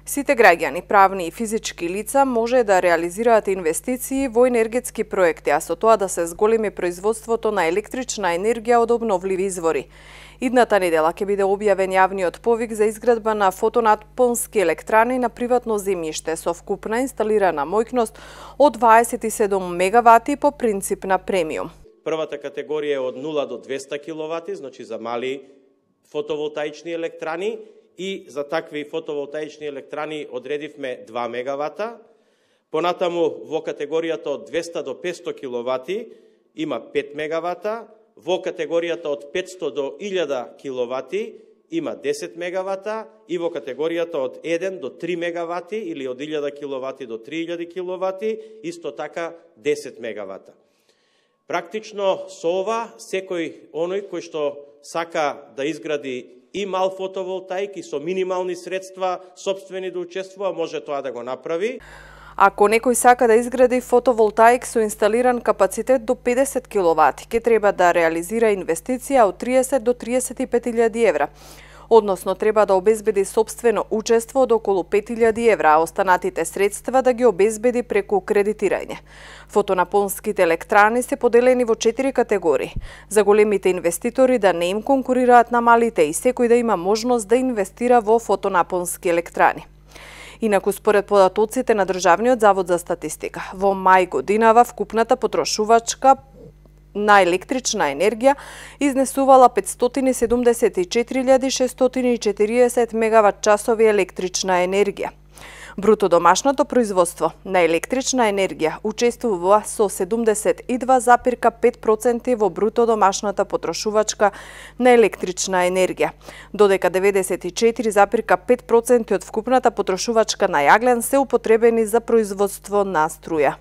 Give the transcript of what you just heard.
Сите граѓани, правни и физички лица може да реализираат инвестиции во енергетски проекти, а со тоа да се зголеми производството на електрична енергија од обновливи извори. Идната недела ќе биде објавен јавниот повик за изградба на фотонапонски електрани на приватно земјиште со вкупна инсталирана моќност од 27 мегавати по принцип на премиум. Првата категорија е од 0 до 200 киловати, значи за мали фотоволтаични електрани, и за такви фотоволтаични електрани одредивме 2 мегавата. Понатаму во категоријата од 200 до 500 киловати има 5 мегавата, во категоријата од 500 до 1000 киловати има 10 мегавата и во категоријата од 1 до 3 мегавати или од 1000 киловати до 3000 киловати исто така 10 мегавата. Практично со ова секој оној кој што сака да изгради и мал фотоволтаик и со минимални средства сопствени да учествува, може тоа да го направи. Ако некој сака да изгради фотоволтаик со инсталиран капацитет до 50 киловати, ќе треба да реализира инвестиција од 30 до 35.000 евра. Односно, треба да обезбеди сопствено учество од околу 5.000 евра, а останатите средства да ги обезбеди преку кредитирање. Фотонапонските електрани се поделени во 4 категории. За големите инвеститори да не им конкурираат на малите и секој да има можност да инвестира во фотонапонски електрани. Инаку, според податоците на Државниот завод за статистика, во мај годинава вкупната потрошувачка на електрична енергија изнесувала 574.640 мегават часови електрична енергија. Бруто домашното производство на електрична енергија учествува со 72,5% во бруто домашната потрошувачка на електрична енергија, додека 94,5% од вкупната потрошувачка на јаглен се употребени за производство на струја.